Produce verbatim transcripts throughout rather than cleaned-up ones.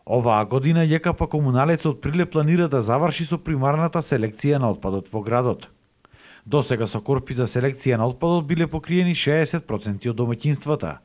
Оваа година Ј К П Комуналец од Прилеп планира да заврши со примарната селекција на отпадот во градот. Досега со корпи за селекција на отпадот биле покриени шеесет проценти од домаќинствата,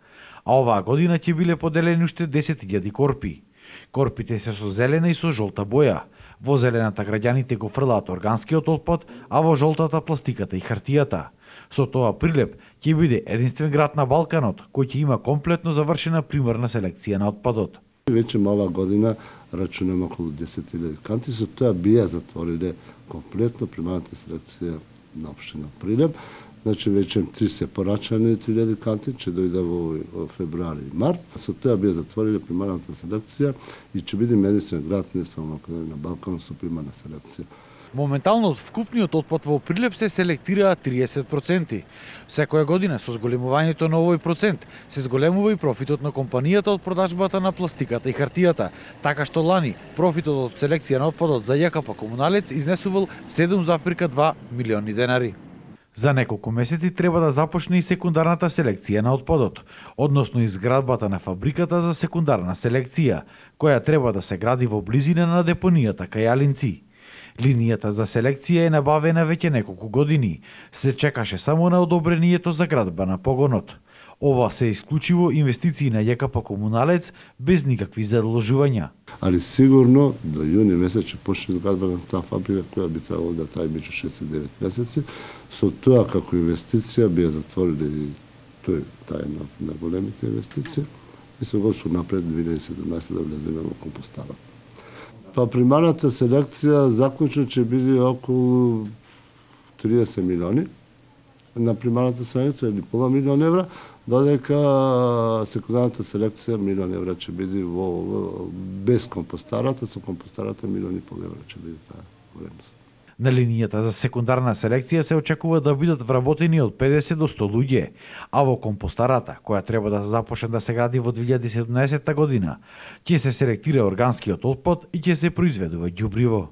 а оваа година ќе биле поделени уште десет илјади корпи. Корпите се со зелена и со жолта боја. Во зелената граѓаните го фрлаат органскиот отпад, а во жолтата пластиката и хартијата. Со тоа Прилеп ќе биде единствен град на Балканот кој ќе има комплетно завршена примарна селекција на отпадот. Веќе оваа година рачунаме околу десет илјади канти, со тоа бија затвориле комплетно примарната селекција на општина Прилеп. Значи веќе три се порачани три илјади канти, ќе дојде во февруари и март. Со тоа бија затвориле примарната селекција и ќе биде единствен град не само на Балканот со примарна селекција. Моментално од вкупниот отпад во Прилеп се селектираат триесет проценти. Секоја година со зголемувањето на овој процент се зголемува и профитот на компанијата од продажбата на пластиката и хартијата, така што лани профитот од селекција на отпадот за Ј К П Комуналец изнесувал седум зарез два милиони денари. За неколку месеци треба да започне и секундарната селекција на отпадот, односно изградбата на фабриката за секундарна селекција, која треба да се гради во близина на депонијата кај Алинци. Линијата за селекција е набавена веќе неколку години. Се чекаше само на одобрението за градба на погонот. Ова се исклучиво инвестиции на Ј К П Комуналец без никакви задолжувања. Али сигурно до јуни месец ќе почне изградба на таа фабрика која би требало да трае меѓу шест и девет месеци. Со тоа како инвестиција би ја затворили тој таа една на големите инвестиции и со Господ напред две илјади и седумнаесета да влеземе во компостарата. Па примарната селекција заклучно ќе биде околу триесет милиони на примарната селекција или пола милион евра, додека секундарната селекција милион евра ќе биде во без компостарата, со компостарата милион и пол евра ќе биде таа вредност. На линијата за секундарна селекција се очекува да бидат вработени од педесет до сто луѓе, а во компостарата, која треба да започне да се гради во две илјади и седумнаесета година, ќе се селектира органскиот отпад и ќе се произведува ѓубриво.